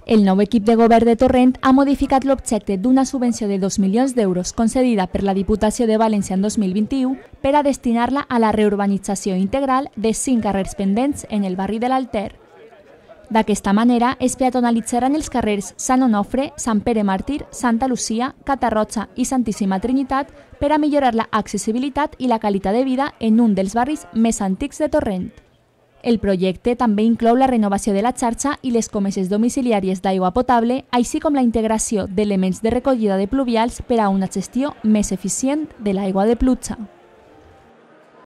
El nou equip de govern de Torrent ha modificat l'objecte d'una subvenció de 2 milions d'euros concedida per la Diputació de València en 2021 per a destinar-la a la reurbanització integral de 5 carrers pendents en el barri de l'Alter. D'aquesta manera, es peatonalitzaran els carrers Sant Onofre, Sant Pere Màrtir, Santa Lucia, Catarroja i Santíssima Trinitat per a millorar l'accessibilitat i la qualitat de vida en un dels barris més antics de Torrent. El projecte també inclou la renovació de la xarxa i les comeses domiciliàries d'aigua potable, així com la integració d'elements de recollida de pluvials per a una gestió més eficient de l'aigua de pluja.